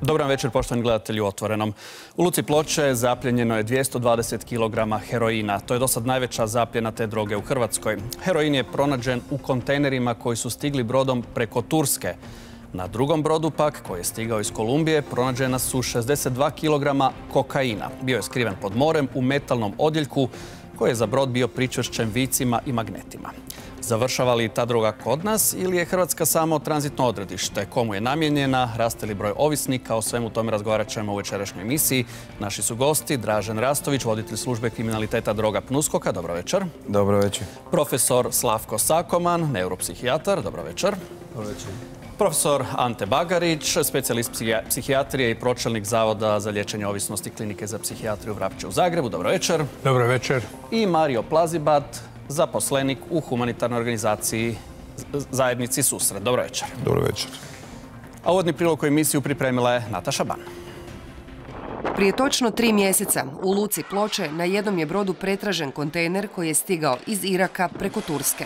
Dobar večer, poštovani gledatelji u Otvorenom. U luci Ploče zapljenjeno je 220 kg heroina. To je do sad najveća zapljena te droge u Hrvatskoj. Heroin je pronađen u kontejnerima koji su stigli brodom preko Turske. Na drugom brodu pak, koji je stigao iz Kolumbije, pronađena su 62 kg kokaina. Bio je skriven pod morem u metalnom odjeljku koji je za brod bio pričvršćen vicima i magnetima. Završava li ta droga kod nas ili je Hrvatska samo tranzitno odredište? Komu je namijenjena? Raste li broj ovisnika? O svemu tome razgovarat ćemo u večerašnjoj emisiji. Naši su gosti Dražen Rastović, voditelj službe kriminaliteta droga PNUSKOK-a. Dobro večer. Dobro večer. Profesor Slavko Sakoman, neuropsihijatar. Dobro večer. Dobro večer. Profesor Ante Bagarić, specijalist psihijatrije i pročelnik Zavoda za liječenje ovisnosti Klinike za psihijatriju Vrapče u Zagrebu. Dobro večer. Dobro večer. I Mario Plazibat, zaposlenik u humanitarnoj organizaciji Zajednici Susret. Dobro večer. Dobro večer. A uvodni prilog u emisiju pripremila je Nataša Ban. Prije točno 3 mjeseca u luci Ploče na jednom je brodu pretražen kontejner koji je stigao iz Iraka preko Turske.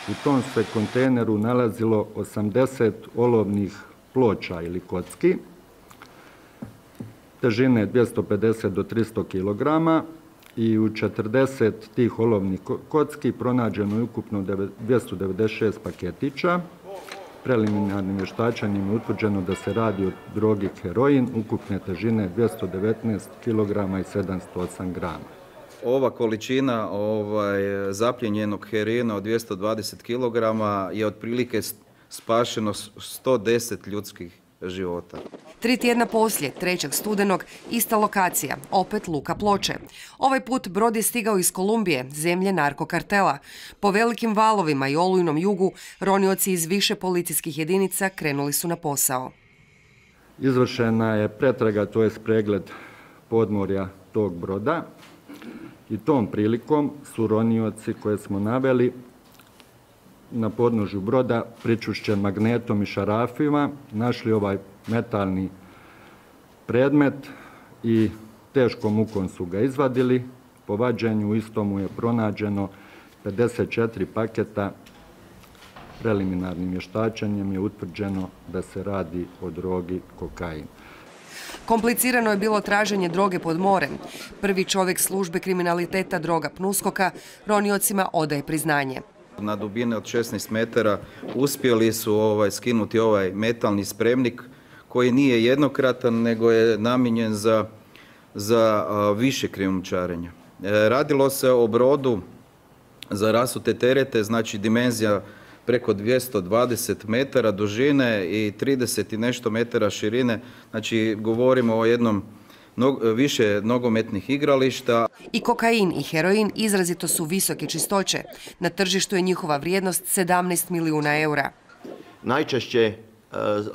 U tom se kontejneru nalazilo 80 olovnih ploča ili kocki, težine 250 do 300 kg i u 40 tih olovnih kocki pronađeno je ukupno 296 paketića. Preliminarnim vještačenjem je utvrđeno da se radi o drogi heroin, ukupne težine 219 kg i 708 grama. Ova količina zapljenjenog heroina od 220 kg je otprilike spašeno 110 ljudskih života. 3 tjedna poslije, 3. studenog, ista lokacija, opet luka Ploče. Ovaj put brod je stigao iz Kolumbije, zemlje narkokartela. Po velikim valovima i olujnom jugu, ronioci iz više policijskih jedinica krenuli su na posao. Izvršena je pretraga, to je pregled podmorja tog broda. I tom prilikom su ronioci koje smo naveli na podnožju broda pričušćen magnetom i šarafima, našli ovaj metalni predmet i teškom mukom su ga izvadili. Po vađenju istomu je pronađeno 54 paketa. Preliminarnim vještačenjem je utvrđeno da se radi o drogi kokain. Komplicirano je bilo traženje droge pod morem. Prvi čovjek službe kriminaliteta droga PNUSKOK-a roniocima odaje priznanje. Na dubine od 16 metara uspjeli su skinuti ovaj metalni spremnik koji nije jednokratan nego je namijenjen za više krijumčarenja. Radilo se o brodu za rasute terete, znači dimenzija preko 220 metara dužine i 30 i nešto metara širine. Znači govorimo o jednom više nogometnih igrališta. I kokain i heroin izrazito su visoke čistoće. Na tržištu je njihova vrijednost 17 milijuna eura. Najčešće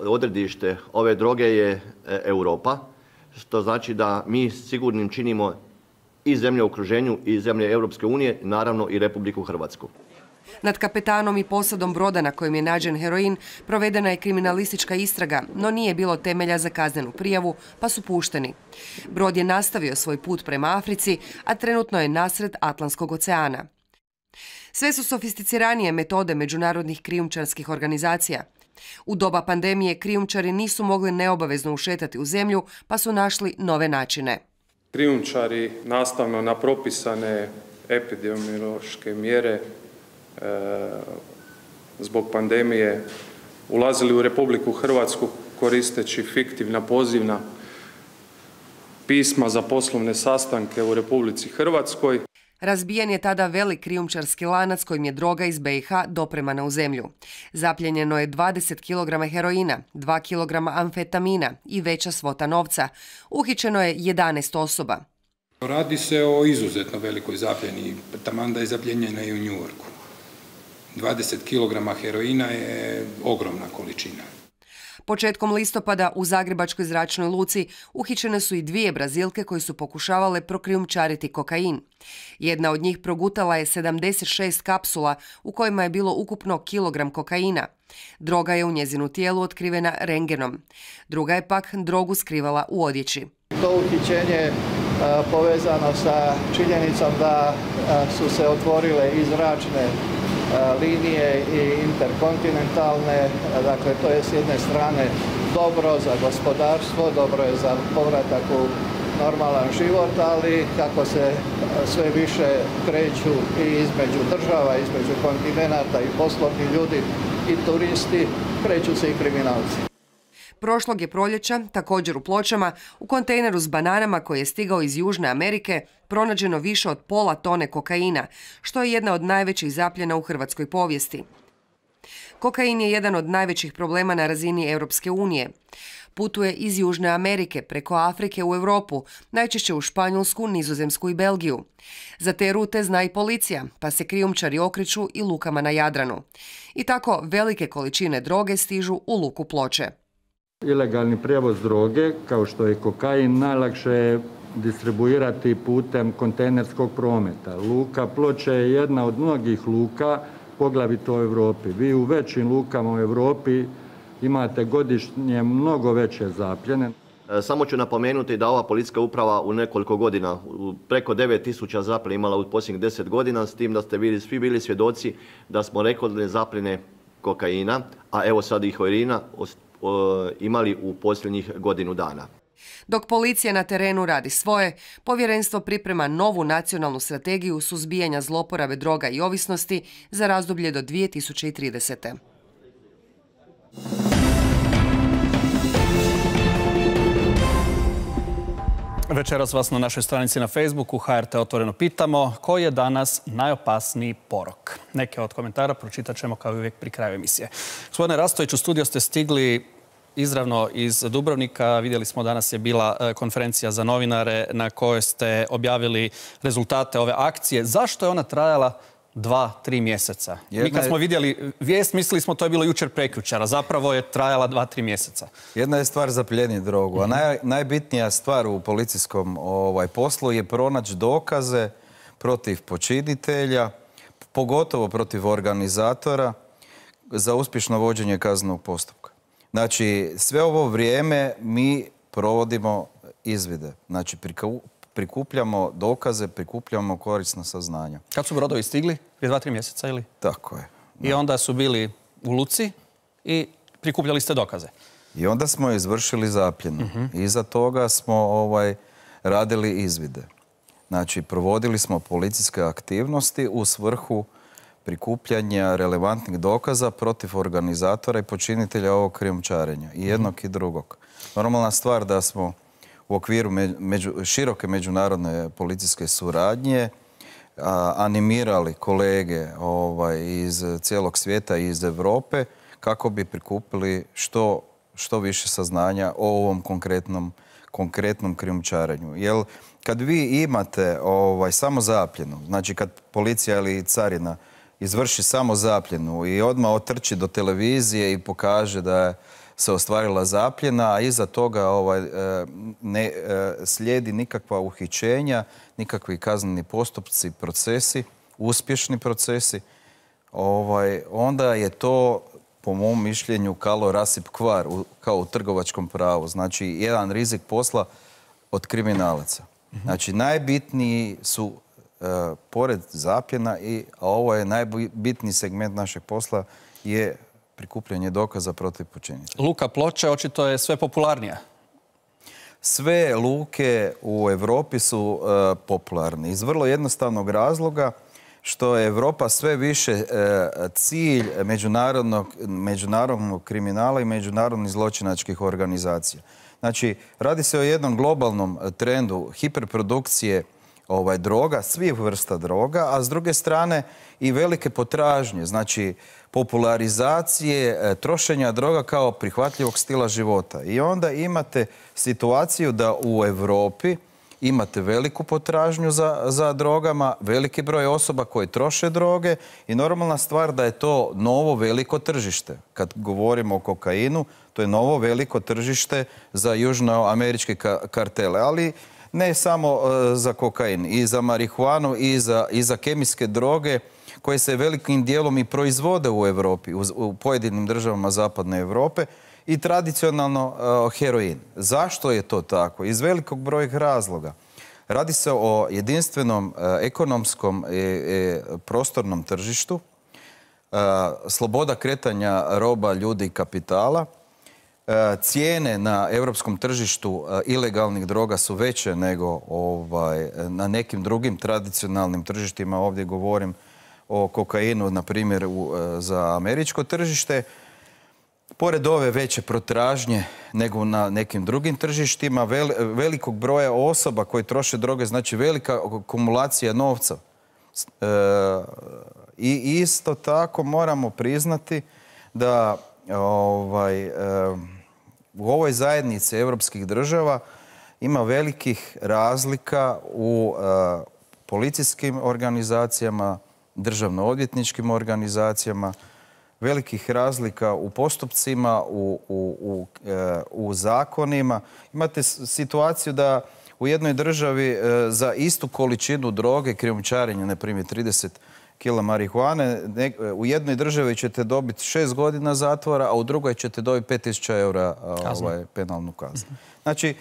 odredište ove droge je Europa, što znači da mi sigurnim činimo i zemlje u okruženju i zemlje Europske unije, naravno i Republiku Hrvatsku. Nad kapetanom i posadom broda na kojem je nađen heroin provedena je kriminalistička istraga, no nije bilo temelja za kaznenu prijavu, pa su pušteni. Brod je nastavio svoj put prema Africi, a trenutno je nasred Atlantskog oceana. Sve su sofisticiranije metode međunarodnih krijumčarskih organizacija. U doba pandemije krijumčari nisu mogli neobavezno ušetati u zemlju, pa su našli nove načine. Krijumčari nastavno na propisane epidemiološke mjere zbog pandemije ulazili u Republiku Hrvatsku koristeći fiktivna pozivna pisma za poslovne sastanke u Republici Hrvatskoj. Razbijen je tada velik krijumčarski lanac kojim je droga iz BiH dopremana u zemlju. Zapljenjeno je 20 kg heroina, 2 kg amfetamina i veća svota novca. Uhićeno je 11 osoba. Radi se o izuzetno velikoj zapljeni, taman da je zapljenjena i u New Yorku. 20 kg heroina je ogromna količina. Početkom listopada u Zagrebačkoj zračnoj luci uhićene su i 2 Brazilke koje su pokušavale prokrijumčariti kokain. Jedna od njih progutala je 76 kapsula u kojima je bilo ukupno kilogram kokaina. Droga je u njezinu tijelu otkrivena rentgenom. Druga je pak drogu skrivala u odjeći. To uhićenje povezano sa činjenicom da su se otvorile i zračne linije i interkontinentalne, dakle to je s jedne strane dobro za gospodarstvo, dobro je za povratak u normalan život, ali kako se sve više kreću i između država, između kontinenata i poslovni ljudi i turisti, kreću se i kriminalci. Prošlog je proljeća, također u Pločama, u kontejneru s bananama koji je stigao iz Južne Amerike, pronađeno više od pola tone kokaina, što je jedna od najvećih zapljena u hrvatskoj povijesti. Kokain je jedan od najvećih problema na razini Europske unije. Putuje iz Južne Amerike preko Afrike u Europu, najčešće u Španjolsku, Nizozemsku i Belgiju. Za te rute zna i policija, pa se krijumčari okreću i lukama na Jadranu. I tako velike količine droge stižu u luku Ploče. Ilegalni prijevoz droge, kao što je kokain, najlakše je distribuirati putem kontejnerskog prometa. Luka Ploče je jedna od mnogih luka, poglavito u Europi. Vi u većim lukama u Europi imate godišnje mnogo veće zapljene. Samo ću napomenuti da ova policijska uprava u nekoliko godina, preko 9000 zapljena imala u posljednjih 10 godina, s tim da ste svi bili svjedoci da smo rekordne zapljene kokaina, a evo sad i heroina, imali u posljednjih godinu dana. Dok policija na terenu radi svoje, povjerenstvo priprema novu nacionalnu strategiju suzbijanja zloporabe droga i ovisnosti za razdoblje do 2030. Večeras vas na našoj stranici na Facebooku HRT Otvoreno pitamo koji je danas najopasniji porok. Neke od komentara pročitat ćemo kao i uvijek pri kraju emisije. Gospodine Rastović, u studio ste stigli izravno iz Dubrovnika. Vidjeli smo danas je bila konferencija za novinare na kojoj ste objavili rezultate ove akcije. Zašto je ona trajala 2-3 mjeseca? Mi kad smo vidjeli vijest, mislili smo to je bilo jučer prekjučer, a zapravo je trajala 2-3 mjeseca. Jedna je stvar zaplijeniti drogu, a najbitnija stvar u policijskom poslu je pronaći dokaze protiv počinitelja, pogotovo protiv organizatora za uspješno vođenje kaznenog postupka. Znači, sve ovo vrijeme mi provodimo izvide. Znači, prikupljamo dokaze, prikupljamo korisna saznanja. Kad su brodovi stigli? Prije 2-3 mjeseca ili? Tako je. I onda su bili u luci i prikupljali ste dokaze. I onda smo izvršili zapljenu. Iza toga smo radili izvide. Znači, provodili smo policijske aktivnosti u svrhu prikupljanja relevantnih dokaza protiv organizatora i počinitelja ovog krijumčarenja. I jednog i drugog. Normalna stvar da smo u okviru široke međunarodne policijske suradnje animirali kolege iz cijelog svijeta i iz Europe kako bi prikupili što više saznanja o ovom konkretnom krijumčarenju. Jer kad vi imate samo zapljenu, znači kad policija ili carina izvrši samo zapljenu i odmah otrči do televizije i pokaže da se ostvarila zapljena, a iza toga ne slijedi nikakva uhićenja, nikakvi kazneni postupci, procesi, uspješni procesi, onda je to, po mom mišljenju, kalo rasip kvar, kao u trgovačkom pravu. Znači, jedan rizik posla od kriminalaca. Znači, najbitniji su pored zapljena, a ovo je najbitniji segment našeg posla, je prikupljanje dokaza protiv počinitelja. Luka Ploče očito je sve popularnija. Sve luke u Europi su popularne iz vrlo jednostavnog razloga što je Europa sve više cilj međunarodnog kriminala i međunarodnih zločinačkih organizacija. Znači, radi se o jednom globalnom trendu hiperprodukcije droga, svih vrsta droga, a s druge strane i velike potražnje, znači popularizacije trošenja droga kao prihvatljivog stila života. I onda imate situaciju da u Europi imate veliku potražnju za drogama, veliki broj osoba koji troše droge i normalna stvar da je to novo veliko tržište. Kad govorimo o kokainu, to je novo veliko tržište za južnoameričke kartele, ali ne samo za kokain, i za marihuanu, i za kemijske droge koje se velikim dijelom i proizvode u Europi, u pojedinim državama zapadne Europe, i tradicionalno heroin. Zašto je to tako? Iz velikog broja razloga. Radi se o jedinstvenom ekonomskom prostornom tržištu, sloboda kretanja roba, ljudi i kapitala, cijene na europskom tržištu ilegalnih droga su veće nego na nekim drugim tradicionalnim tržištima. Ovdje govorim o kokainu, na primjer, za američko tržište. Pored ove veće potražnje nego na nekim drugim tržištima, velikog broja osoba koji troše droge, znači velika akumulacija novca. I isto tako moramo priznati da u ovoj zajednici europskih država ima velikih razlika u policijskim organizacijama, državno-odvjetničkim organizacijama, velikih razlika u postupcima, u zakonima. Imate situaciju da u jednoj državi za istu količinu droge, krijumčarenja, na primjer 30 kila marihuane, u jednoj državi ćete dobiti 6 godina zatvora, a u drugoj ćete dobiti 5.000 eura penalnu kaznu. Znači,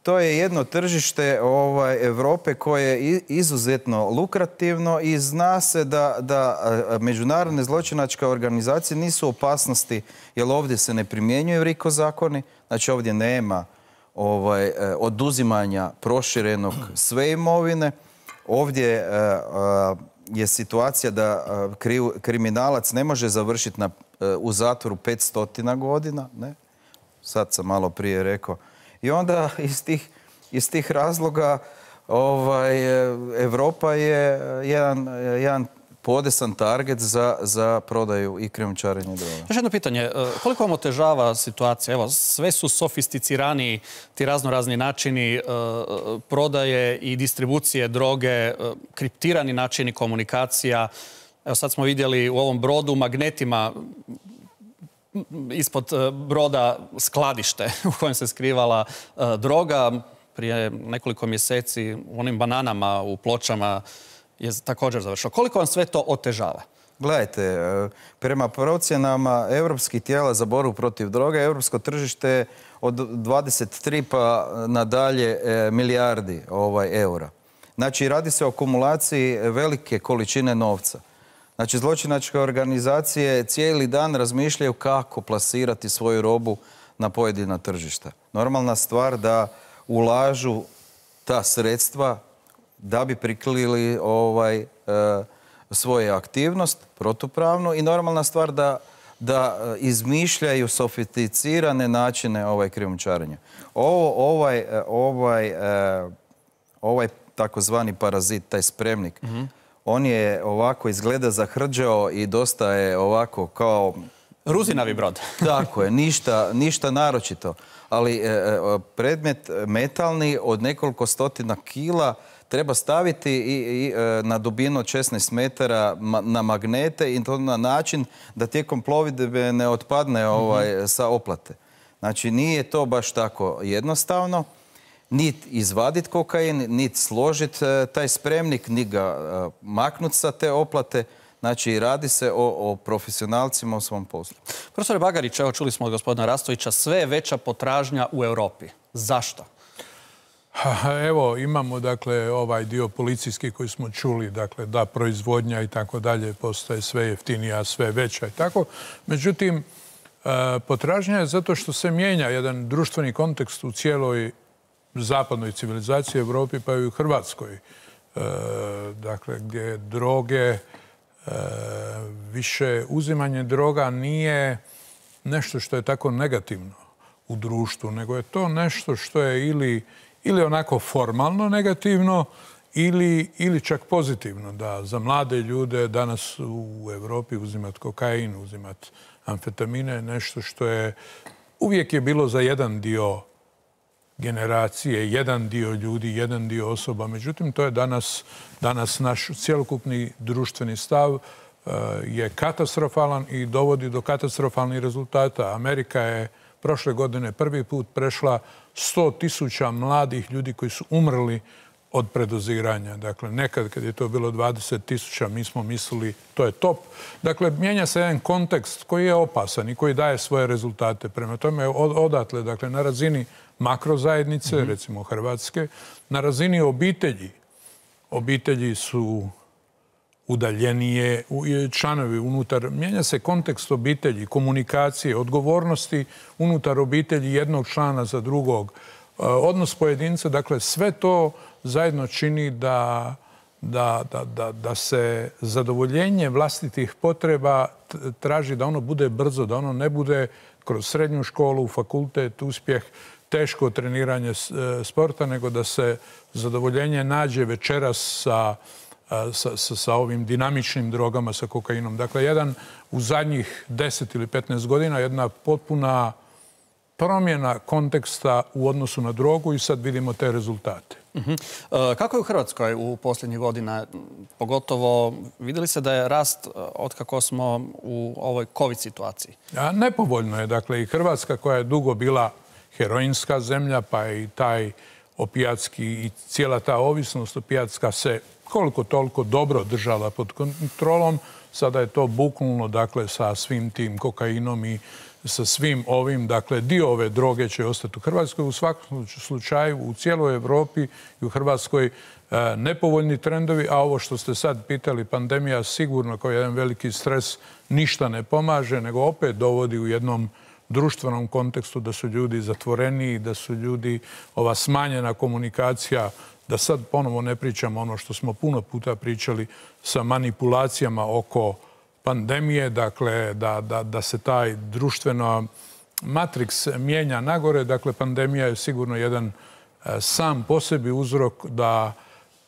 to je jedno tržište Europe koje je izuzetno lukrativno i zna se da međunarodne zločinačke organizacije nisu u opasnosti, jer ovdje se ne primjenjuju RICO zakoni, znači ovdje nema oduzimanja proširenog sve imovine. Ovdje je situacija da kriminalac ne može završiti u zatvoru 500 godina, ne? Sad sam malo prije rekao. I onda iz tih razloga Europa je jedan podesan target za prodaju i krijumčarenje droga. Još jedno pitanje, koliko vam otežava situacija? Evo, sve su sofisticiraniji ti raznorazni načini prodaje i distribucije droge, kriptirani načini komunikacija. Evo, sad smo vidjeli u ovom brodu magnetima ispod broda skladište u kojem se skrivala droga. Prije nekoliko mjeseci u onim bananama u Pločama je također završilo. Koliko vam sve to otežava? Gledajte, prema procjenama europskih tijela za borbu protiv droge, europsko tržište od 23 pa nadalje milijardi eura. Znači, radi se o akumulaciji velike količine novca. Znači, zločinačke organizacije cijeli dan razmišljaju kako plasirati svoju robu na pojedina tržišta. Normalna stvar da ulažu ta sredstva da bi prikrili svoju aktivnost protupravno i normalna stvar da izmišljaju sofisticirane načine krijumčarenja. Ovaj takozvani parazit, taj spremnik, on je ovako izgleda zahrđao i dosta je ovako kao... Ruzinavi brod. Tako je, ništa naročito. Ali predmet metalni od nekoliko stotina kila treba staviti i na dubinu od 16 metara na magnete i to na način da tijekom plovidbe ne otpadne sa oplate. Znači, nije to baš tako jednostavno. Niti izvaditi kokain, niti složiti taj spremnik, ni ga maknuti sa te oplate. Znači, radi se o profesionalcima u svom poslu. Profesore Bagarić, evo čuli smo od gospodina Rastovića, sve je veća potražnja u Europi. Zašto? Evo, imamo dakle ovaj dio policijski koji smo čuli, dakle da proizvodnja i tako dalje postaje sve jeftinija, sve veća i tako. Međutim, potražnja je zato što se mijenja jedan društveni kontekst u cijeloj zapadnoj civilizaciji, Europi pa i u Hrvatskoj. Dakle, gdje droge, više uzimanje droga nije nešto što je tako negativno u društvu, nego je to nešto što je ili onako formalno negativno ili čak pozitivno. Da za mlade ljude danas u Europi uzimati kokain, uzimati amfetamine, nešto što je uvijek je bilo za jedan dio generacije, jedan dio ljudi, jedan dio osoba. Međutim, to je danas naš cjelokupni društveni stav je katastrofalan i dovodi do katastrofalnih rezultata. Amerika je prošle godine prvi put prešla 100.000 mladih ljudi koji su umrli od predoziranja. Dakle, nekad kad je to bilo 20.000, mi smo mislili to je top. Dakle, mijenja se jedan kontekst koji je opasan i koji daje svoje rezultate. Prema tome, odatle, dakle, na razini makrozajednice, recimo Hrvatske, na razini obitelji. Obitelji su udaljenije članovi unutar. Mijenja se kontekst obitelji, komunikacije, odgovornosti unutar obitelji jednog člana za drugog, odnos pojedinca. Dakle, sve to zajedno čini da se zadovoljenje vlastitih potreba traži da ono bude brzo, da ono ne bude kroz srednju školu, fakultet, uspjeh, teško treniranje sporta, nego da se zadovoljenje nađe večeras sa ovim dinamičnim drogama, sa kokainom. Dakle, u zadnjih 10 ili 15 godina jedna potpuna promjena konteksta u odnosu na drogu i sad vidimo te rezultate. Kako je u Hrvatskoj u posljednjih godina? Pogotovo vidjeli se da je rast otkako smo u ovoj COVID situaciji? Nepovoljno je. Dakle, i Hrvatska koja je dugo bila heroinska zemlja, pa i taj opijatski i cijela ta ovisnost opijatska se koliko toliko dobro držala pod kontrolom. Sada je to buknulo, dakle, sa svim tim kokainom i sa svim ovim, dakle, dio ove droge će ostati u Hrvatskoj. U svakom slučaju, u cijeloj Europi i u Hrvatskoj nepovoljni trendovi, a ovo što ste sad pitali, pandemija sigurno kao jedan veliki stres ništa ne pomaže, nego opet dovodi u jednom društvenom kontekstu da su ljudi zatvoreniji, da su ljudi, ova smanjena komunikacija, da sad ponovo ne pričamo ono što smo puno puta pričali sa manipulacijama oko pandemije, dakle, da se taj društveno matriks mijenja nagore. Dakle, pandemija je sigurno jedan sam po sebi uzrok da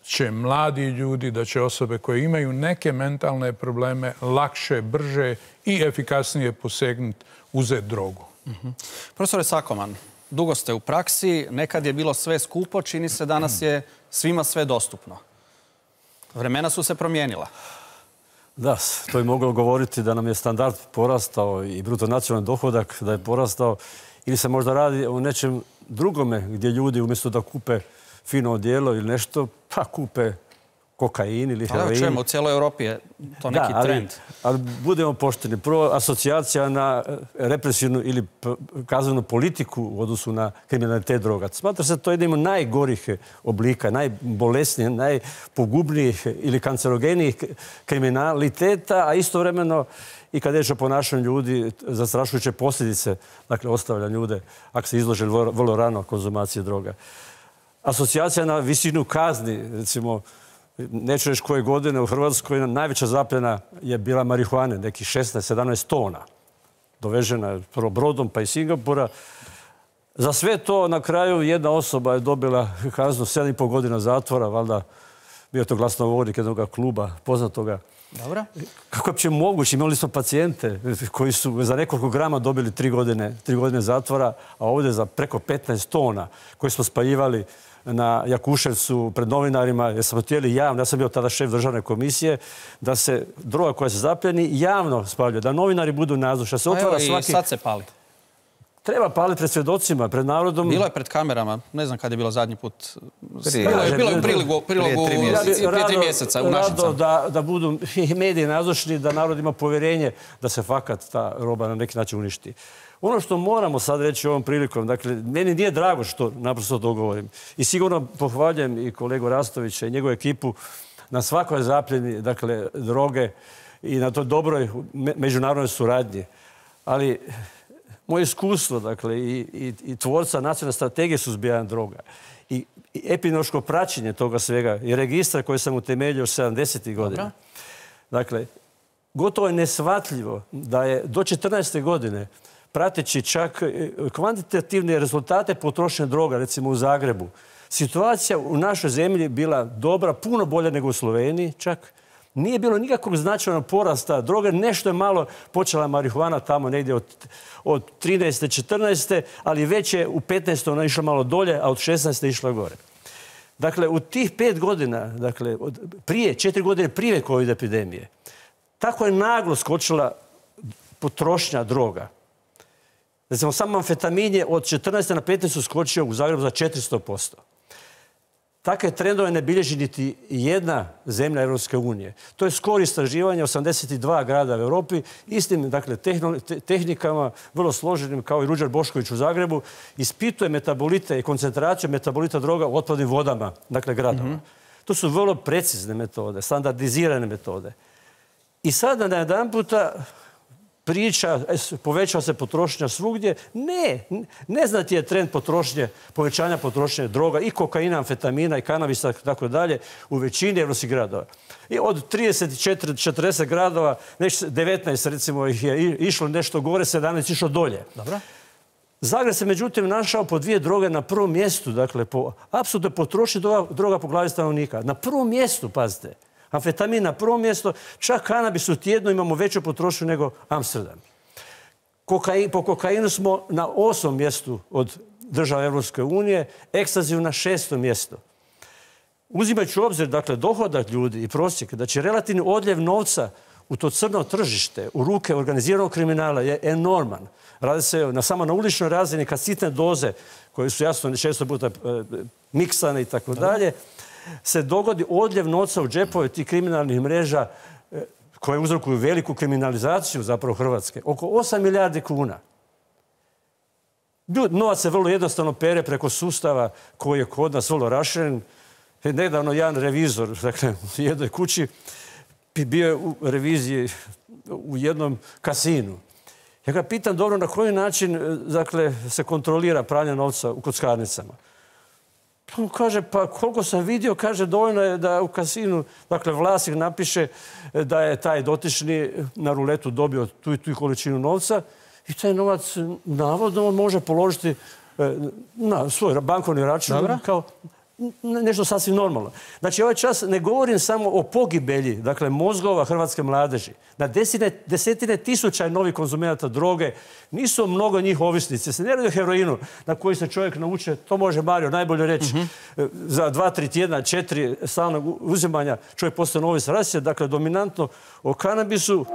će mladi ljudi, da će osobe koje imaju neke mentalne probleme lakše, brže i efikasnije posegnuti, uzeti drogu. Profesore Sakoman, dugo ste u praksi, nekad je bilo sve skupo, čini se danas je svima sve dostupno. Vremena su se promijenila. Da, to je moglo govoriti da nam je standard porastao i bruto nacionalni dohodak da je porastao ili se možda radi o nečem drugome gdje ljudi umjesto da kupe fino odijelo ili nešto, pa kupe kokain ili heroin. Čujemo, u cijeloj Europi je to neki trend. Ali budemo pošteni. Prvo, asocijacija na represivnu ili kaznenu politiku u odnosu na kriminalitet droga. Smatra se to jednim od najgorih oblika, najbolesnijih, najpogubnijih ili kancerogenijih kriminaliteta, a istovremeno i kad je o ponašanju ljudi, zastrašujuće posljedice, dakle, ostavlja ljude ako se izlože vrlo rano konzumacije droga. Asocijacija na visinu kazni, recimo, neću reći koje godine u Hrvatskoj najveća zapljena je bila marihuane, nekih 16-17 tona. Dovežena prvo brodom pa iz Singapura. Za sve to na kraju jedna osoba je dobila kaznu 7,5 godina zatvora, valjda bio to glasnogovornik jednog kluba poznatoga. Dobro. Kako je uopće moguće? Imali smo pacijente koji su za nekoliko grama dobili 3 godine zatvora, a ovdje za preko 15 tona koje smo spaljivali na Jakuševcu pred novinarima, jer smo htjeli javno, ja sam bio tada šef državne komisije, da se droga koja se zapljeni javno spaljuje, da novinari budu nazočni. I sad se pali. Treba paliti pred svjedocima, pred narodom. Bilo je pred kamerama, ne znam kad je bilo zadnji put. Bilo je u prilogu prije 3 mjeseca u našem Saboru. Da budu i mediji nazočni, da narod ima povjerenje da se fakat ta roba na neki način uništi. Ono što moramo sad reći ovom prilikom, dakle, meni nije drago što naprosto to govorim. I sigurno pohvaljujem i kolegu Rastovića i njegovu ekipu na svakoj zapljeni, dakle, droge i na toj dobroj međunarodnoj suradnji. Ali moje iskustvo, dakle, i tvorca nacionalne strategije suzbijanja droga i epidemiološko praćenje toga svega i registra koji sam utemeljio 70. godina. Dakle, gotovo je neshvatljivo da je do 14. godine prateći čak kvantitativne rezultate potrošnje droga, recimo u Zagrebu, situacija u našoj zemlji bila dobra, puno bolja nego u Sloveniji čak. Nije bilo nikakvog značajnog porasta droge. Nešto je malo počela marihuana tamo negdje od 13. 14. ali već je u 15. ona išla malo dolje, a od 16. išla gore. Dakle, u tih 5 godina, dakle, 4 godine prije COVID epidemije, tako je naglo skočila potrošnja droga. Recimo, samo amfetamin je od 14. na 15. skočio u Zagrebu za 400%. Takve trendove ne bilježi niti jedna zemlja Europske unije. To je skoro istraživanje 82 grada u Europi, istim, dakle, tehnikama, vrlo složenim, kao i Ruđer Bošković u Zagrebu, ispituje metabolite i koncentraciju metabolita droga u otpadnim vodama, dakle, gradova. To su vrlo precizne metode, standardizirane metode. I sada na jedan puta priča, povećava se potrošnja svugdje. Neznat je trend povećanja potrošnje droga i kokaina, amfetamina i kanabisa i tako dalje u većini evropskih gradova. I od 34-40 gradova, 19 recimo ih je išlo nešto gore, 17 išlo dolje. Dobro. Zagreb se međutim našao po 2 droge na prvom mjestu, dakle po apsolutnoj potrošnji droga po glavi stanovnika. Na prvom mjestu, pazite. Amfetamin na prvom mjestu, čak kanabis u tjednu imamo veću potrošnju nego Amsterdam. Po kokainu smo na 8. mjestu od država Evropske unije, ekstaziju na 6. mjestu. Uzimajući u obzir, dakle, dohodak ljudi i prosjek, da će relativni odljev novca u to crno tržište, u ruke organiziranog kriminala je enorman. Radi se samo na uličnoj razini kad sitne doze, koje su jasno često puta miksane i tako dalje, se dogodi odljev novca u džepove tih kriminalnih mreža koje uzrokuju veliku kriminalizaciju zapravo Hrvatske. Oko 8 milijardi kuna. Novac se vrlo jednostavno pere preko sustava koji je kod nas vrlo raširen. Nedavno jedan revizor, dakle, u jednoj kući bio je u reviziji u jednom kasinu. Ja ga pitam, dobro, na koji način, dakle, se kontrolira pranje novca u kockarnicama? On kaže, pa koliko sam vidio, kaže, dovoljno je da u kasinu, dakle, vlasnik napiše da je taj dotični na ruletu dobio tu i tu količinu novca i taj novac navodno može položiti na svoj bankovni račun kao nešto sasvim normalno. Znači, ovaj čas ne govorim samo o pogibelji, dakle, mozgova hrvatske mladeži. Na desetine tisuća novih konzumenata droge, nisu mnogo njih ovisnici. Se ne radi o heroinu na koji se čovjek nauče, to može Mario najbolje reći, za 2-3 tjedna, 4 stalnog uzimanja čovjek postane ovisan. Radi se, dakle, dominantno o kanabisu,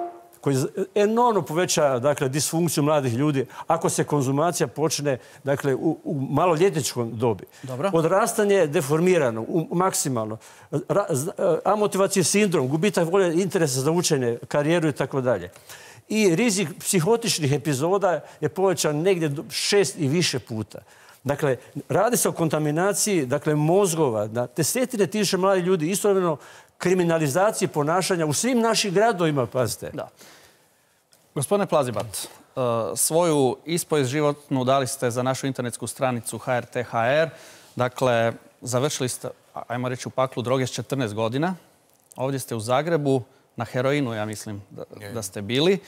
koji enormno poveća, dakle, disfunkciju mladih ljudi ako se konzumacija počne, dakle, u maloljetničkom dobi. Odrastanje je deformirano, maksimalno. Amotivacijski sindrom, gubitak volje, interesa za učenje, karijeru i tako dalje. I rizik psihotičnih epizoda je povećan negdje 6 i više puta. Dakle, radi se o kontaminaciji, dakle, mozgova, na desetine tisuća mladih ljudi, istovremeno kriminalizaciji ponašanja u svim našim gradovima, pazite. Da. Gospodine Plazibat, svoju ispovijest životnu dali ste za našu internetsku stranicu HRT.hr. Dakle, završili ste, ajmo reći, u paklu droge s 14 godina. Ovdje ste u Zagrebu, na heroinu, ja mislim da ste bili.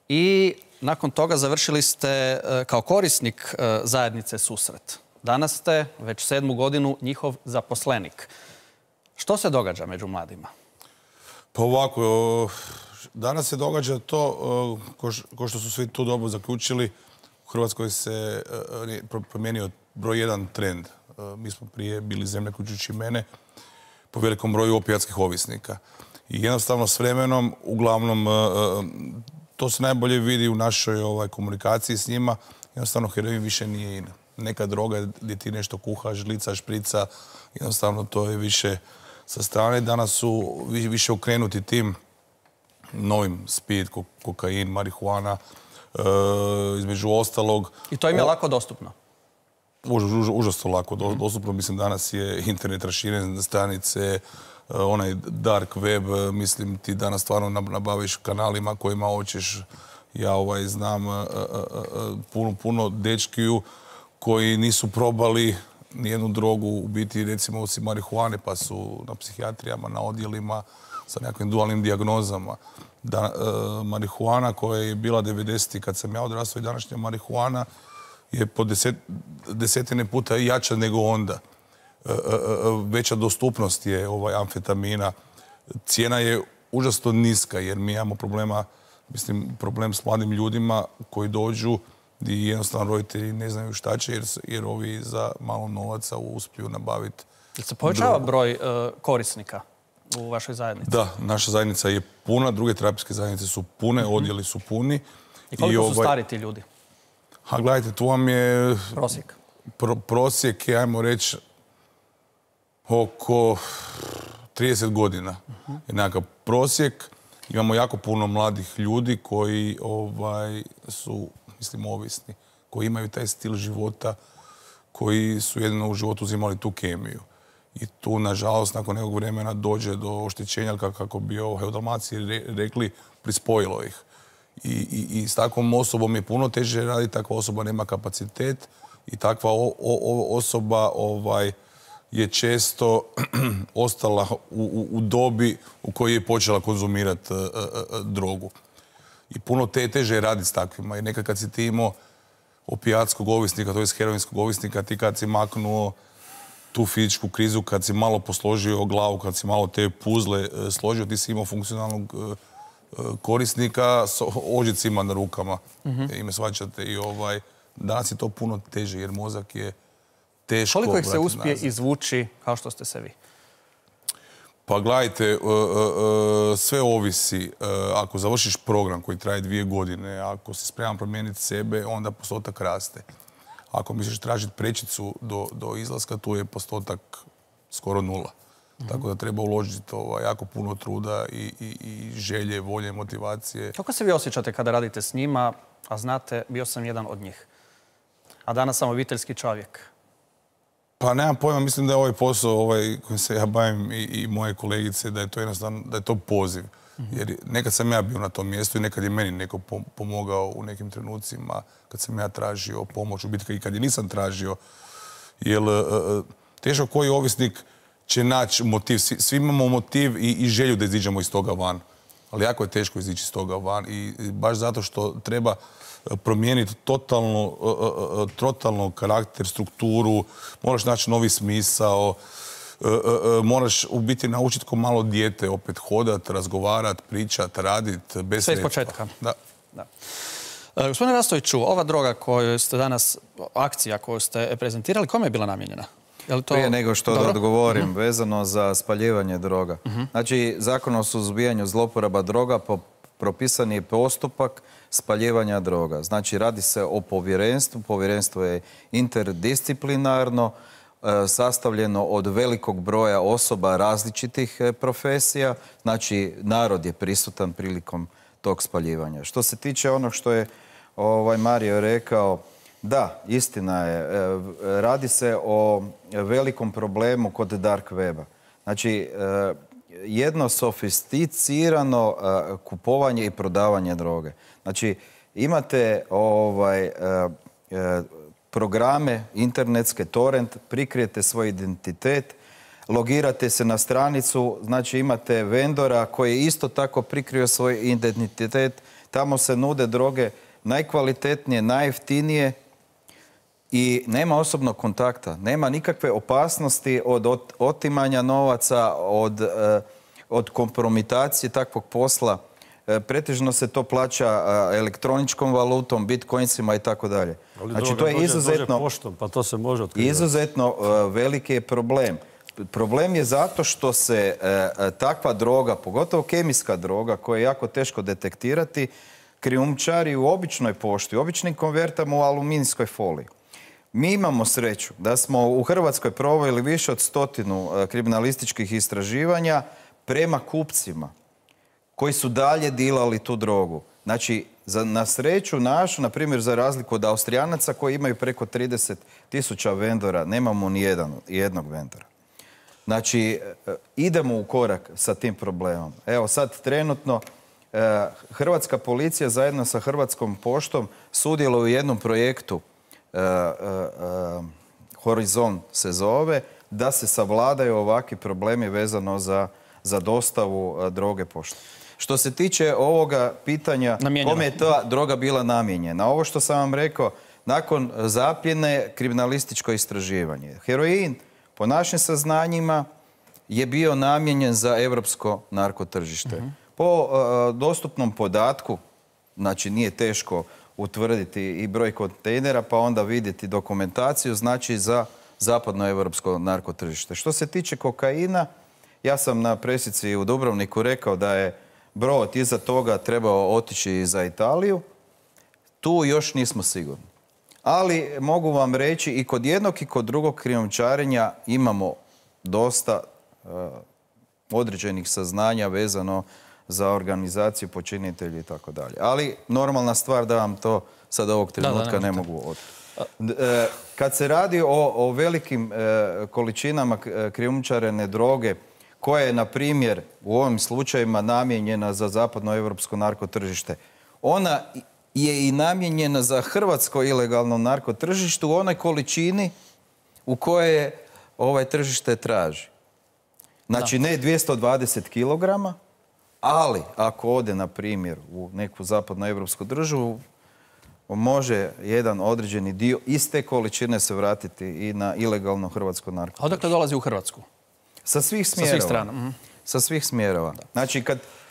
I nakon toga završili ste kao korisnik zajednice Susret. Danas ste već 7. godinu njihov zaposlenik. Što se događa među mladima? Pa ovako, danas se događa to, ko što su svi tu dobro zaključili, u Hrvatskoj se promijenio broj 1 trend. Mi smo prije bili zemlja, uključujući mene, po velikom broju opijatskih ovisnika. I jednostavno s vremenom, uglavnom, to se najbolje vidi u našoj komunikaciji s njima, jednostavno heroin više nije in. Neka droga gdje ti nešto kuhaš, žlica, šprica, jednostavno to je više sa strane. Danas su više okrenuti tim novim speed, kokain, marihuana, između ostalog. I to im je lako dostupno? Užasno lako dostupno. Mislim, danas je internet raširen, stranice, onaj dark web, mislim, ti danas stvarno nabaviš kanalima kojima hoćeš. Ja znam puno dečkiju koji nisu probali nijednu drogu, u biti, recimo, osim marihuane, pa su na psihijatrijama, na odjelima sa nekakvim dualnim dijagnozama. Marihuana koja je bila 90. kad sam ja odrastao i današnja marihuana je po desetine puta jača nego onda. Veća dostupnost je amfetamina. Cijena je užasno niska jer mi imamo problem s mladim ljudima koji dođu i jednostavno roditelji ne znaju šta će jer ovi za malo novaca uspiju nabaviti. Jel se povećava broj korisnika u vašoj zajednici? Da, naša zajednica je puna, druge terapijske zajednice su pune, odjeli su puni. I koliko su stari ti ljudi? A gledajte, tu vam je... Prosjek? Prosjek je, ajmo reći, oko 30 godina. Je nekakav prosjek. Imamo jako puno mladih ljudi koji su, mislim, ovisni, koji imaju taj stil života, koji su jedino u životu uzimali tu kemiju. I tu, nažalost, nakon nekog vremena dođe do oštećenja, kako bi u Dalmaciji rekli, prispojilo ih. I s takvom osobom je puno teže raditi, takva osoba nema kapacitet i takva osoba je često ostala u dobi u kojoj je počela konzumirati drogu. I puno teže je raditi s takvima. I nekad kad si ti imao opijatskog ovisnika, to je heroinskog ovisnika, ti kad si maknuo tu fizičku krizu, kad si malo posložio glavu, kad si malo te puzle složio, ti si imao funkcionalnog korisnika s ožicima na rukama. I me shvaćate. I danas je to puno teže jer mozak je teško. Koliko ih se uspije izvući kao što ste se vi? Pa gledajte, sve ovisi. Ako završiš program koji traje 2 godine, ako si spreman promijeniti sebe, onda postotak raste. Ako misliš tražiti prečicu do izlaska, tu je postotak skoro 0. Tako da treba uložiti jako puno truda i želje, volje, motivacije. Kako se vi osjećate kada radite s njima, a znate, bio sam jedan od njih, a danas sam obiteljski čovjek? Pa nemam pojma, mislim da je ovaj posao kojim se ja bavim i moje kolegice, da je to jednostavno, da je to poziv. Jer nekad sam ja bio na tom mjestu i nekad je meni neko pomogao u nekim trenucima kad sam ja tražio pomoć u biti i kad je nisam tražio. Jer teško koji ovisnik će naći motiv. Svi imamo motiv i želju da iziđemo iz toga van. Ali jako je teško izići iz toga van i baš zato što treba promijeniti totalno karakter, strukturu, moraš naći novi smisao, moraš u biti naučiti ko malo dijete opet hodat, razgovarat, pričat, radit, bez sve iz početka. Da. Gospodine Rastoviću, ova droga koju ste danas, akcija koju ste prezentirali, kome je bila namijenjena? Prije nego što da odgovorim, vezano za spaljivanje droga. Znači, Zakon o suzbijanju zloporaba droga propisan je postupak spaljivanja droga. Znači, radi se o povjerenstvu. Povjerenstvo je interdisciplinarno, sastavljeno od velikog broja osoba različitih profesija. Znači, narod je prisutan prilikom tog spaljivanja. Što se tiče onog što je Mario rekao, da, istina je. Radi se o velikom problemu kod dark weba. Znači, jedno sofisticirano kupovanje i prodavanje droge. Znači, imate programe internetske, torrent, prikrijete svoj identitet, logirate se na stranicu, znači imate vendora koji isto tako prikrio svoj identitet, tamo se nude droge najkvalitetnije, najjeftinije i nema osobnog kontakta, nema nikakve opasnosti od otimanja novaca, od kompromitacije takvog posla. Pretežno se to plaća elektroničkom valutom, bitcoinsima i tako dalje. Znači, to je izuzetno poštom, pa to se može otkrivati. Izuzetno veliki je problem. Problem je zato što se takva droga, pogotovo kemijska droga, koja je jako teško detektirati, krijumčari u običnoj pošti, u običnim konvertama u aluminijskoj foliji. Mi imamo sreću da smo u Hrvatskoj proveli više od 100 kriminalističkih istraživanja prema kupcima koji su dalje dilali tu drogu. Znači, na sreću našu, na primjer, za razliku od Austrijanaca koji imaju preko 30.000 vendora, nemamo ni jednog vendora. Znači, idemo u korak sa tim problemom. Evo sad trenutno Hrvatska policija zajedno sa Hrvatskom poštom sudjeluje u jednom projektu, Horizon se zove, da se savladaju ovakvi problemi vezano za dostavu droge poštom. Što se tiče ovoga pitanja, kome je ta droga bila namijenjena? Ovo što sam vam rekao, nakon zapljene kriminalističko istraživanje. Heroin, po našim saznanjima, je bio namijenjen za europsko narkotržište. Po dostupnom podatku, znači nije teško utvrditi i broj kontejnera, pa onda vidjeti dokumentaciju, znači za zapadnoevropsko narkotržište. Što se tiče kokaina, ja sam na presici u Dubrovniku rekao da je brod iza toga trebao otići za Italiju. Tu još nismo sigurni. Ali mogu vam reći i kod jednog i kod drugog krijumčarenja imamo dosta određenih saznanja vezano za organizaciju, počinitelji i tako dalje. Ali normalna stvar da vam to sad ovog trenutka ne mogu otkriti. Kad se radi o velikim količinama krijumčarene droge, koja je, na primjer, u ovim slučajima namijenjena za zapadnoevropsko narkotržište, ona je i namijenjena za hrvatsko ilegalno narkotržište u onoj količini u kojoj ovaj tržište traži. Znači, ne 220 kilograma, ali ako ode, na primjer, u neku zapadnoevropsku državu, može jedan određeni dio iste količine se vratiti i na ilegalno hrvatsko narkotržište. A odakle dolazi u Hrvatsku? Sa svih smjerova. Sa svih strana. Sa svih smjerova. Znači,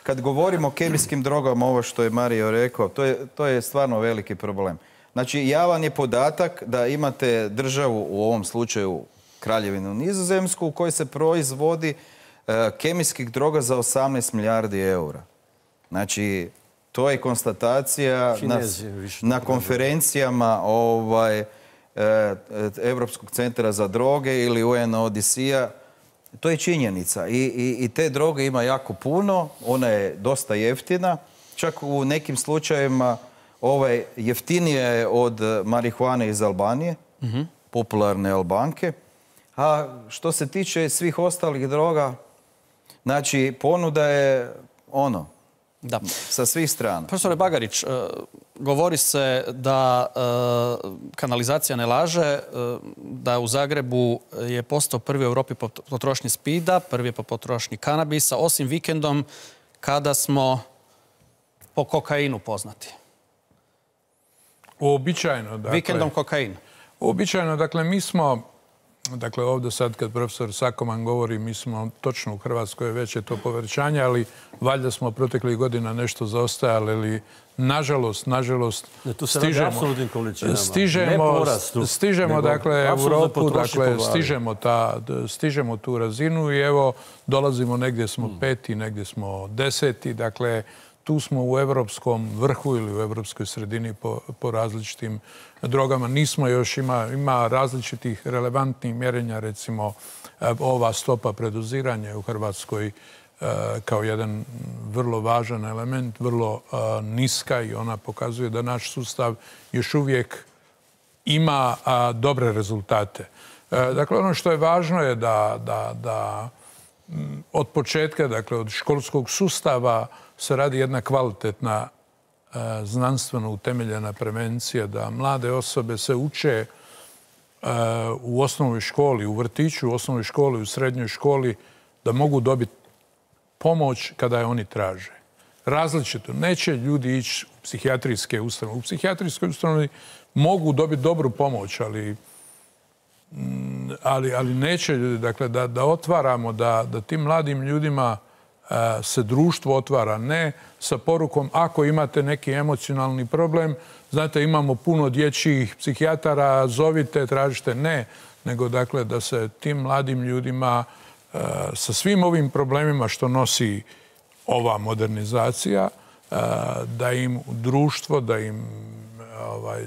kad govorimo o kemijskim drogama, ovo što je Mario rekao, to je stvarno veliki problem. Znači, javan je podatak da imate državu, u ovom slučaju Kraljevinu Nizozemsku, u kojoj se proizvodi kemijskih droga za 18 milijardi eura. Znači, to je konstatacija na konferencijama Europskog centra za droge ili UNODC-a. To je činjenica. I te droge ima jako puno, ona je dosta jeftina. Čak u nekim slučajevima jeftinija je od marihuane iz Albanije, popularne Albanke. A što se tiče svih ostalih droga, znači ponuda je sa svih strana. Profesore Bagarić, govori se da kanalizacija ne laže, da u Zagrebu je postao prvi u Europi po potrošnji spida, prvi je po potrošnji kanabisa, osim vikendom kada smo po kokainu poznati. Uobičajeno, dakle... Vikendom kokain. Uobičajeno, dakle, mi smo... Dakle, ovdje sad kad profesor Sakoman govori, mi smo točno u Hrvatskoj, već je to povećanje, ali valjda smo proteklih godina nešto zaostajali, ali nažalost, stižemo, dakle, Europu, dakle, stižemo tu razinu i evo, dolazimo, negdje smo 5. negdje smo 10. Dakle, tu smo u evropskom vrhu ili u evropskoj sredini po različitim drogama. Nismo još, ima različitih relevantnih mjerenja, recimo ova stopa predoziranja u Hrvatskoj kao jedan vrlo važan element, vrlo niska i ona pokazuje da naš sustav još uvijek ima dobre rezultate. Dakle, ono što je važno je da od početka, dakle od školskog sustava se radi jedna kvalitetna znanstveno utemeljena prevencija, da mlade osobe se uče u osnovnoj školi, u vrtiću, u osnovnoj školi, u srednjoj školi, da mogu dobiti pomoć kada je oni traže. Različito. Neće ljudi ići u psihijatrijske ustanove. U psihijatrijskoj ustanovi mogu dobiti dobru pomoć, ali neće ljudi. Dakle, da otvaramo, da tim mladim ljudima se društvo otvara, ne sa porukom ako imate neki emocionalni problem, znate, imamo puno dječjih psihijatara, zovite, tražite, ne, nego dakle da se tim mladim ljudima sa svim ovim problemima što nosi ova modernizacija, da im društvo, da im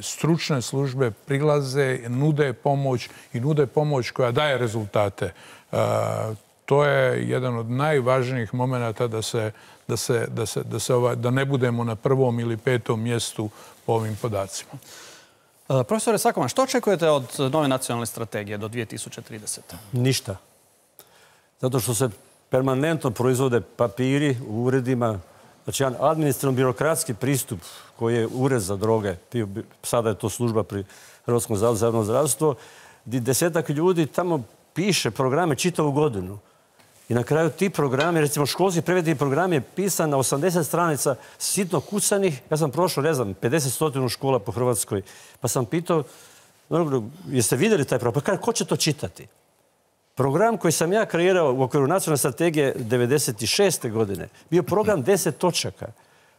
stručne službe prilaze, nude pomoć i nude pomoć koja daje rezultate. To je jedan od najvažnijih momenata da ne budemo na 1. ili 5. mjestu po ovim podacima. Profesore Sakoman, što očekujete od nove nacionalne strategije do 2030? Ništa. Zato što se permanentno proizvode papiri u uredima. Znači, jedan administrativno-birokratski pristup koji je ured za droge, sada je to služba pri Hrvatskom zavodu za javno zdravstvo, gdje 10-ak ljudi tamo piše programe čitavu godinu. I na kraju ti programi, recimo školski prevedeni program je pisan na 80 stranica sitno kucanih. Ja sam prošao, 50-100 škola po Hrvatskoj, pa sam pitao, jeste vidjeli taj program? Pa ko će to čitati? Program koji sam ja kreirao u okviru nacionalne strategije 1996. godine bio program 10 točaka.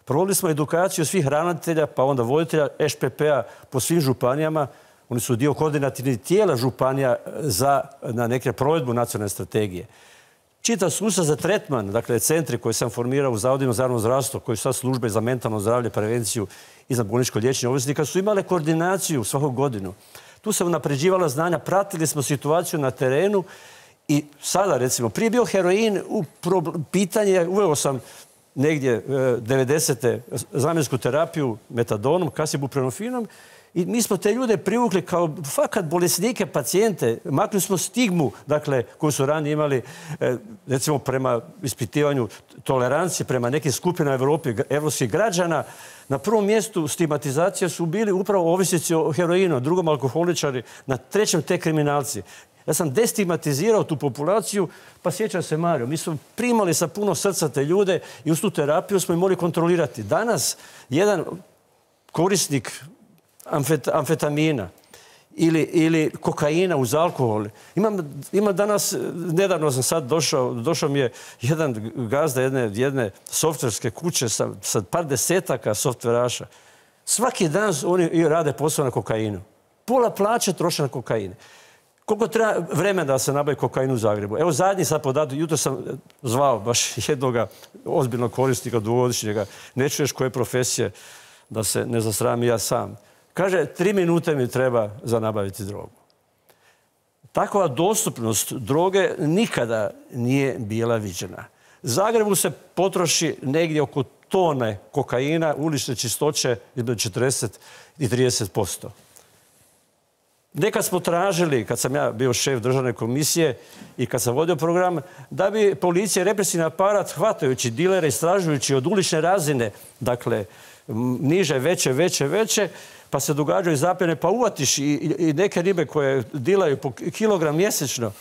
Provodili smo edukaciju svih ravnatelja, pa onda voditelja ŠPP-a po svim županijama. Oni su dio koordinativnih tijela županija na neke provedbu nacionalne strategije. Čitav sustav za tretman, dakle centri koje sam formirao u Zavodima za javno zdravstvo, koji su sad službe za mentalno zdravlje, prevenciju i za bolničko liječenje ovisnika, su imale koordinaciju svaku godinu. Tu se unapređivala znanja, pratili smo situaciju na terenu i sada, recimo, prije bio heroin u pitanje, uveo sam negdje 90. zamjensku terapiju metadonom, kasnije buprenorfinom I mi smo te ljude privukli kao fakat bolesnike, pacijente. Maknuli smo stigmu, dakle, koju su ranije imali, recimo, prema ispitivanju tolerancije, prema nekim skupinama evropskih građana. Na prvom mjestu stigmatizacija su bili upravo ovisnici o heroinu, drugom alkoholičari, na trećem te kriminalci. Ja sam destigmatizirao tu populaciju, pa sjećam se, Mario, mi smo primali sa puno srca te ljude i uz tu terapiju smo ih mogli kontrolirati. Danas jedan korisnik amfetamina ili kokaina uz alkohol. Imam danas, nedavno sam sad došao mi je jedan gazda jedne softverske kuće sa par desetaka softveraša. Svaki dan oni rade posao na kokainu. Pola plaće troše na kokaine. Koliko treba vremena da se nabavi kokain u Zagrebu? Evo zadnji sad podatak, jutro sam zvao baš jednog ozbiljnog korisnika dugogodišnjega. Ne čuješ koje profesije, da se ne zasramim ja sam. Kaže, 3 minute mi treba za nabaviti drogu. Takva dostupnost droge nikada nije bila viđena. Zagrebu se potroši negdje oko tone kokaina, ulične čistoće između 40 i 30%. Nekad smo tražili, kad sam ja bio šef državne komisije i kad sam vodio program, da bi policija i represivni aparat, hvatajući dilere, istražujući od ulične razine, dakle, niže, veće, pa se događaju zapljene, pa uvatiš i neke ribe koje dilaju po kilogram mjesečno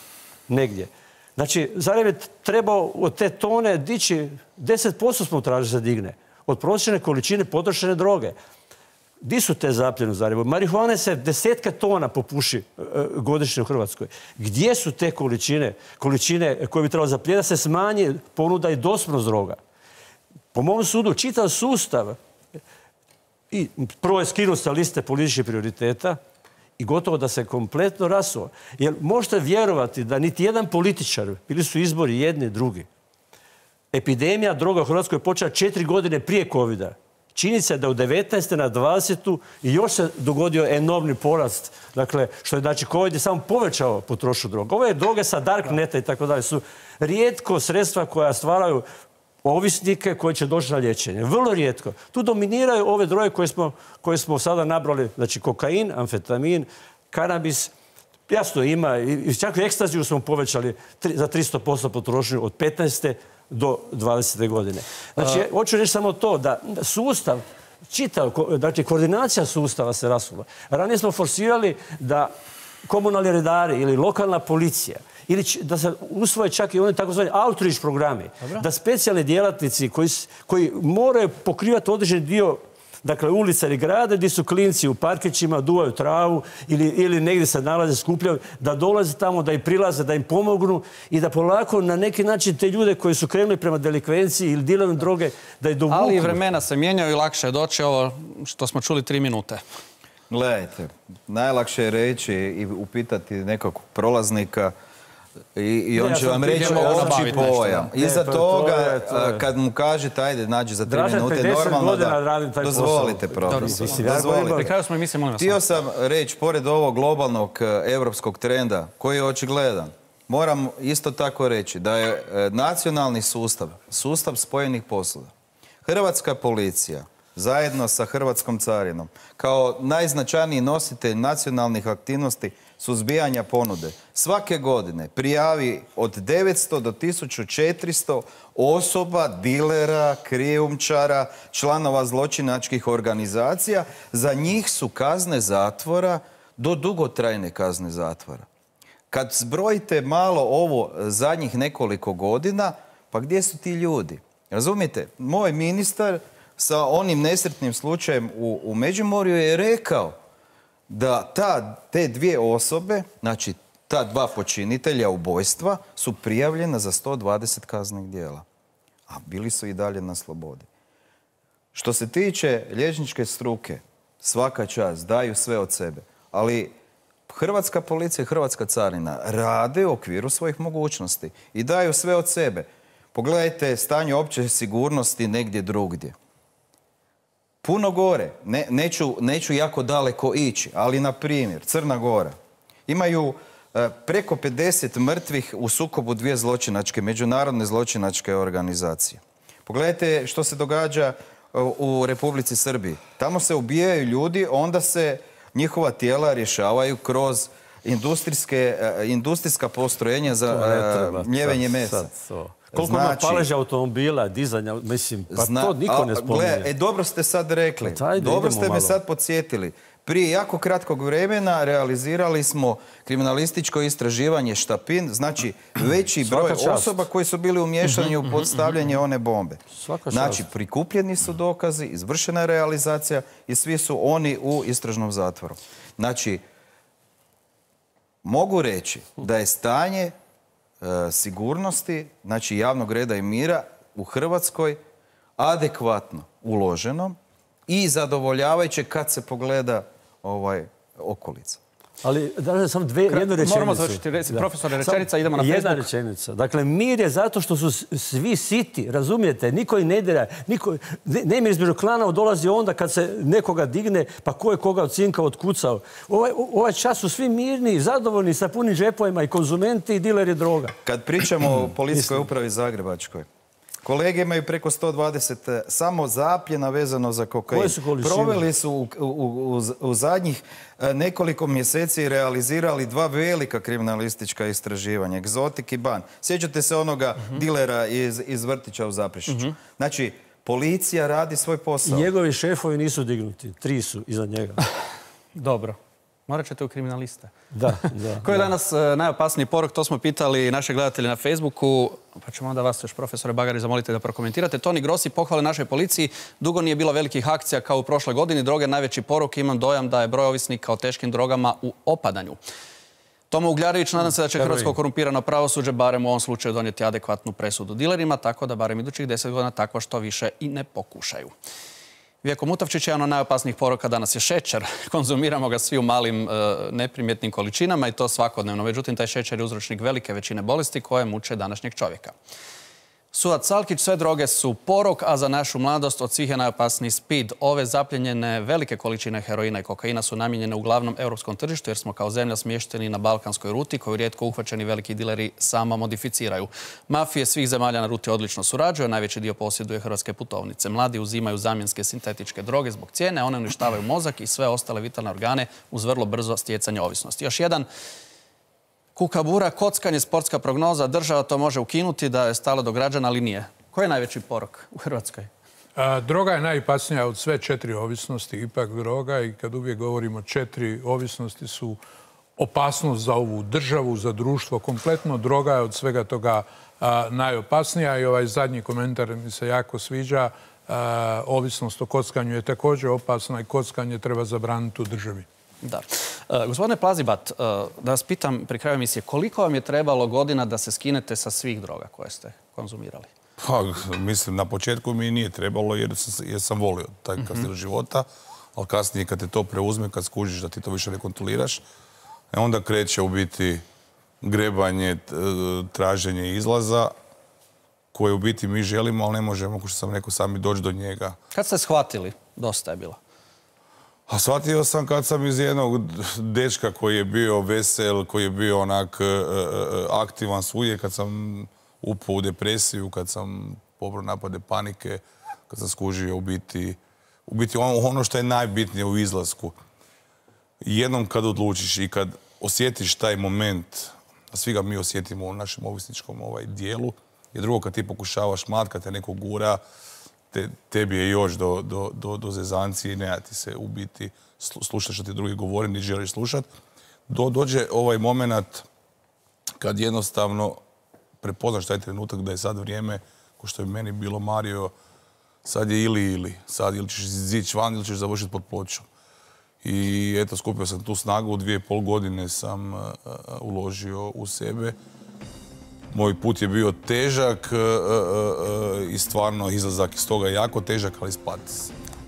negdje. Znači, Zagreb je trebao od te tone dići, 10% smo tražili da digne, od prosječne količine potrošene droge. Di su te zapljene u Zagrebu? Marihuane se desetke tona popuši godišnje u Hrvatskoj. Gdje su te količine koje bi trebalo zaplijeniti da se smanji ponuda i dostupnost droga? Po mom sudu, čitav sustav i prvo je skinut sa liste političkih prioriteta i gotovo da se kompletno rasuo. Jer možete vjerovati da niti jedan političar, bili su izbori jedni, drugi, epidemija droga u Hrvatskoj je počela 4 godine prije covida. Čini se da u 19. na 20. i još se dogodio enormni porast. Dakle, što je, znači, COVID je samo povećao potrošnju droga. Ove droge sa darkneta i tako dalje su rijetko sredstva koja stvaraju ovisnike koji će doći na liječenje. Vrlo rijetko. Tu dominiraju ove droge koje smo sada nabrali. Znači, kokain, amfetamin, kanabis. Jasno ima. I čak u ekstaziju smo povećali za 300% potrošnju od 15. do 20. godine. Znači, hoću reći samo to da sustav, znači koordinacija sustava se rasula. Ranije smo forsirali da komunalni redari ili lokalna policija ili da se usvoje čak i oni takozvani outreach programi, da specijalni djelatnici koji moraju pokrivati određeni dio, dakle, ulica ili grada gdje su klinci u parkićima, duvaju travu ili negdje se nalaze, skupljaju, da dolaze tamo, da im prilaze, da im pomognu i da polako na neki način te ljude koji su krenuli prema delikvenciji ili dilanju droge, da ih dovuku. Ali i vremena se mijenjaju i lakše je doći, ovo što smo čuli 3 minute. Gledajte, najlakše je reći i upitati nekog prolaznika i on će vam reći opći pojam. Iza toga, kad mu kažete, ajde, nađi za 3 minute, normalno da... Dozvolite, profesor. Htio sam reći, pored ovog globalnog evropskog trenda, koji je očigledan, moram isto tako reći da je nacionalni sustav spojenih posuda. Hrvatska policija, zajedno sa Hrvatskom carinom, kao najznačajniji nositelj nacionalnih aktivnosti suzbijanja ponude, svake godine prijavi od 900 do 1400 osoba, dilera, krijumčara, članova zločinačkih organizacija. Za njih su kazne zatvora do dugotrajne kazne zatvora. Kad zbrojite malo ovo zadnjih nekoliko godina, pa gdje su ti ljudi? Razumijete? Moj ministar sa onim nesretnim slučajem u Međimurju je rekao da te 2 osobe, znači ta 2 počinitelja ubojstva, su prijavljena za 120 kaznenih djela. A bili su i dalje na slobodi. Što se tiče liječničke struke, svaka čast, daju sve od sebe. Ali Hrvatska policija i Hrvatska carina rade u okviru svojih mogućnosti i daju sve od sebe. Pogledajte stanje opće sigurnosti negdje drugdje. Puno gore, neću jako daleko ići, ali na primjer Crna Gora. Imaju preko 50 mrtvih u sukobu 2 međunarodne zločinačke organizacije. Pogledajte što se događa u Republici Srbiji. Tamo se ubijaju ljudi, onda se njihova tijela rješavaju kroz industrijska postrojenja za mljevenje mesa. Koliko ima paleža automobila, dizanja, mislim, pa to niko ne spominje. Dobro ste sad rekli, dobro ste me sad podsjetili. Prije jako kratkog vremena realizirali smo kriminalističko istraživanje Štapin, znači veći broj osoba koji su bili umiješani u podstavljanje one bombe. Znači, prikupljeni su dokazi, izvršena je realizacija i svi su oni u istražnom zatvoru. Znači, mogu reći da je stanje sigurnosti, znači javnog reda i mira u Hrvatskoj adekvatno uloženo i zadovoljavajuće kad se pogleda okolica. Ali, da sam jednu rečenicu. Moramo završiti, profesore, rečenica, idemo na Facebook. Jedna rečenica. Dakle, mir je zato što su svi siti, razumijete? Niko i ne dira. Nemir između klana dolazi onda kad se nekoga digne, pa ko je koga od cinka otkucao. Ovaj čas su svi mirni, zadovoljni, sa punim džepovima i konzumenti i dileri droga. Kad pričamo o policijskoj upravi Zagrebačkoj, kolege imaju preko 120 samo zapljena vezano za kokain. Proveli su u zadnjih nekoliko mjeseci i realizirali 2 velika kriminalistička istraživanja, Egzotik i Ban. Sjećate se onoga dilera iz vrtića u Zaprešiću. Znači, policija radi svoj posao. I njegovi šefovi nisu dignuti. 3 su iza njega. Dobro. Morat ćete u kriminaliste. Da. Koji je danas najopasniji porok? To smo pitali naše gledatelje na Facebooku. Pa ćemo onda vas još, profesore Bagari, zamolite da prokomentirate. Toni Grossi pohvale našoj policiji. Dugo nije bilo velikih akcija kao u prošloj godini. Droge najveći porok. Imam dojam da je broj ovisnika o teškim drogama u opadanju. Tomo Ugljarević, nadam se da će hrvatsko korumpirano pravosuđe barem u ovom slučaju donijeti adekvatnu presudu dilerima, tako da barem idućih 10 godina tako što više i ne pokušaju. Vjeko Mutavčić, jedan od najopasnijih poroka danas je šećer. Konzumiramo ga svi u malim neprimjetnim količinama i to svakodnevno. Međutim, taj šećer je uzročnik velike većine bolesti koje muče današnjeg čovjeka. Sudac Salkić, sve droge su porok, a za našu mladost od svih je najopasniji speed. Ove zapljenjene velike količine heroina i kokaina su namijenjene uglavnom europskom tržištu jer smo kao zemlja smješteni na balkanskoj ruti koju rijetko uhvaćeni veliki dileri sama modificiraju. Mafije svih zemalja na ruti odlično surađuju, najveći dio posjeduje hrvatske putovnice. Mladi uzimaju zamjenske sintetičke droge zbog cijene, one uništavaju mozak i sve ostale vitalne organe uz vrlo brzo stjecanje ovisnosti. Još jedan kukabura, kockanje, sportska prognoza, država to može ukinuti da je stalo do građana, ali nije. Koji je najveći porok u Hrvatskoj? Droga je najopasnija od sve 4 ovisnosti, ipak droga, i kad uvijek govorimo 4 ovisnosti su opasnost za ovu državu, za društvo kompletno. Droga je od svega toga najopasnija i ovaj zadnji komentar mi se jako sviđa. Ovisnost o kockanju je također opasna i kockanje treba zabraniti u državi. Da. Gospodine Plazibat, da vas pitam pri kraju emisije, koliko vam je trebalo godina da se skinete sa svih droga koje ste konzumirali? Pa, mislim, na početku mi nije trebalo jer sam volio taj stil života, ali kasnije kad te to preuzme, kad skužiš da ti to više ne kontroliraš, onda kreće u biti grebanje, traženje izlaza, koje u biti mi želimo, ali ne možemo, kao što sam rekao, sami doći do njega. Kad ste shvatili, dosta je bilo? A shvatio sam kad sam iz jednog dečka koji je bio vesel, koji je bio onak aktivan svuje, kad sam upao u depresiju, kad sam pobrao napade panike, kad sam skužio u biti ono što je najbitnije u izlasku. Jednom kad odlučiš i kad osjetiš taj moment, a svi ga mi osjetimo u našem ovisničkom dijelu, i drugo kad ti pokušavaš kad te neko gura, tebi je još do zezancije i ne da ti se u biti slušati što ti drugi govori, ni želiš slušati. Dođe ovaj moment kad jednostavno prepoznaš taj trenutak da je sad vrijeme, ko što je meni bilo Mario, sad je ili. Sad ili ćeš izići van ili ćeš završiti pod pločom. I eto, skupio sam tu snagu, 2,5 godine sam uložio u sebe. Moj put je bio težak i stvarno izlazak iz toga je jako težak, ali spad.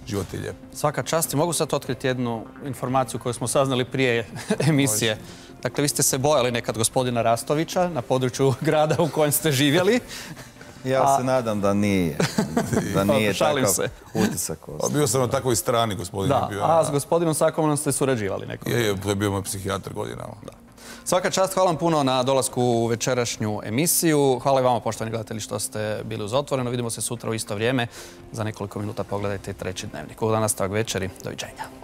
Život je lijep. Svaka čast. I mogu sad otkriti jednu informaciju koju smo saznali prije emisije. Dakle, vi ste se bojali nekad gospodina Rastovića na području grada u kojem ste živjeli. Ja se nadam da nije. Da nije takav utisak. Bio sam na takvoj strani, gospodin. A s gospodinom Sakomanom ste surađivali nekom? Je, to je bio moj psihijatar godinama. Svaka čast, hvala vam puno na dolasku u večerašnju emisiju. Hvala i vama, poštovani gledatelji, što ste bili uz Otvoreno. Vidimo se sutra u isto vrijeme. Za nekoliko minuta pogledajte i treći dnevnik. Ugodan nastavak večeri. Doviđenja.